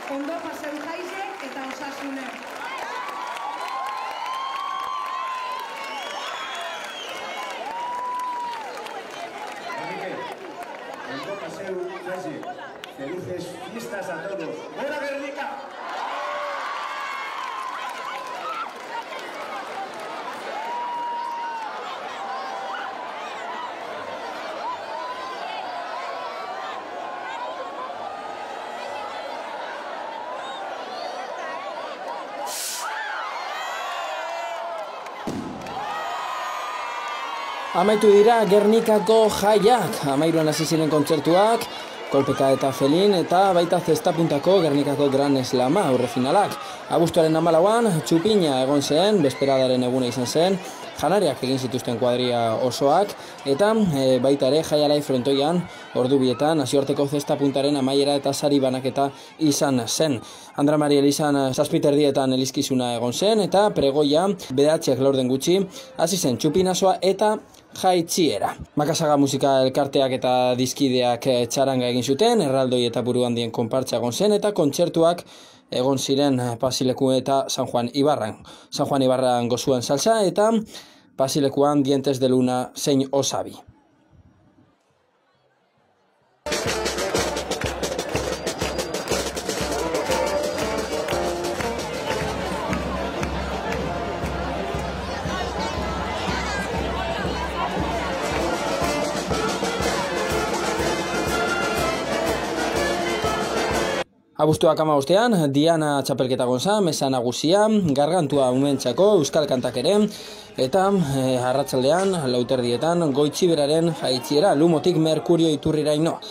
ondo paseu jaize eta osasune. Ondo paseu jaize. Felices fiestas a todos. ¡Gora Guernica! Amaitu dira Gernikako jaiak, 13an hasi ziren kontzertuak, Kolpeka eta Felin eta baita zestapuntako Gernikako Gran Slama aurrefinalak. Abuztuaren 14an txupina egon zen, besperadaren eguna izan zen, janariak egin zituzten kuadria osoak, eta baita ere jaialai frontoian ordubietan nazioarteko zestapuntaren amaiera eta sari banaketa izan zen. Andra Mari Elizan 7:30 elizkizuna egon zen, eta pregoia bederatziak laurden gutxi hasi zen txupinazoa eta jaitziera. Makasaga musika elkarteak eta dizkideak txaranga egin zuten, erraldoi eta buru handien konpartza egon zen, eta kontzertuak egon ziren Pasileku eta San Juan Ibarran. San Juan Ibarran gozuan salsa eta Pasilekuan Dientes de Luna zein Osabi. Abuztuak 15ean, Diana txapelketa gonza, mesa nagusia, gargantua umentzako, euskal kantak ere, eta arratsaldean, 4:00 Goitxiberaren jaitziera, Lumotik Merkurio iturriraino.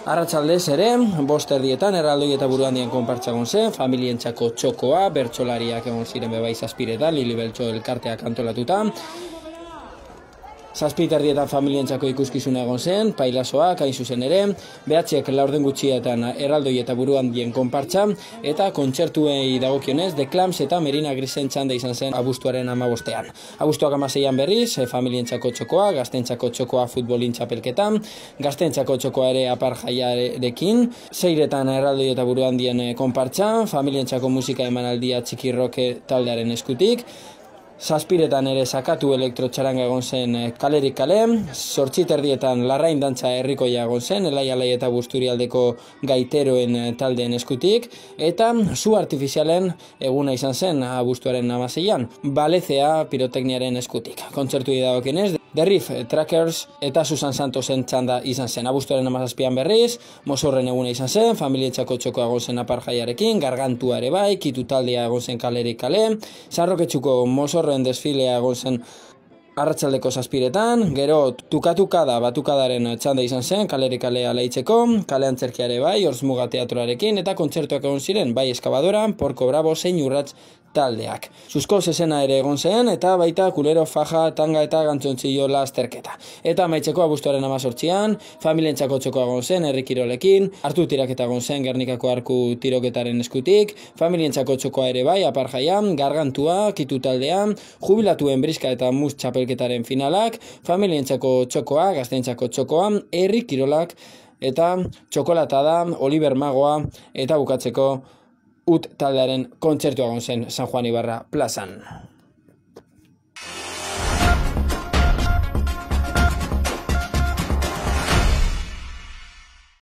Arratsaldez ere, 5:00 erraldoi eta buru handien konpartza gonzen, familientzako txokoa, bertsolariak egon ziren bebai zazpireta, Lili Beltxo elkarteak antolatuta. 7:30 familientzako ikuskizuna egon zen, pailazoak hain zuzen ere, behatziak laurden gutxietan erraldoi eta buru handien konpartza, eta kontzertuei dagokionez, The Clams eta Merina Grisen txanda izan zen abuztuaren 15ean. Abuztuak 16ean berriz, familientzako txokoa, gaztentzako txokoa futbolin txapelketan, gaztentzako txokoa ere apar jaiarekin, 6:00 erraldoi eta buru handien konpartza, familientzako musika emanaldia txikirroke taldearen eskutik, 7:00 ere sakatu elektrotxaranga egon zen kalerik kale, 8:30 Larrain dantza herrikoia egon zen, Elai eta Busturialdeko gaiteroen taldeen eskutik, eta zu artifizialen eguna izan zen abuztuaren 16ean, Balezea pirotekniaren eskutik. Kontzertu dagokienez, The Riff Trackers eta Susan Santosen txanda izan zen. Abuztuaren 17ean berriz, Mozorren eguna izan zen, familientzako txokoa egon zen apar jaiarekin, gargantua ere bai, kitu taldea egon zen kalerik kale, Sarroketxuko Mozorren desfilea egon zen arratsaldeko 7:00, gero tukatukada batukadaren txanda izan zen, kalerik kalea leitzeko, kale antzerkia ere bai, Orzmuga teatroarekin, eta kontzertuak egon ziren, bai Eskabadora, Porko Bravo, zein Urrats taldeak. Susko zezena ere egon zen, eta baita kulero, faja, tanga eta gantzontxillo lasterketa. Eta amaitzeko abuztuaren 18ean, familientzako txokoa egon zen, herri kirolekin, hartu tiraketa egon zen Gernikako arku tiroketaren eskutik, familientzako txokoa ere bai, apar jaian, gargantua, kitu taldean, jubilatuen briska eta mus txapelketaren finalak, familientzako txokoa, gaztentzako txokoa, herri kirolak, eta txokolatada, Oliver Magoa, eta bukatzeko ut taldearen kontzertua egon zen San Juan Ibarra plazan.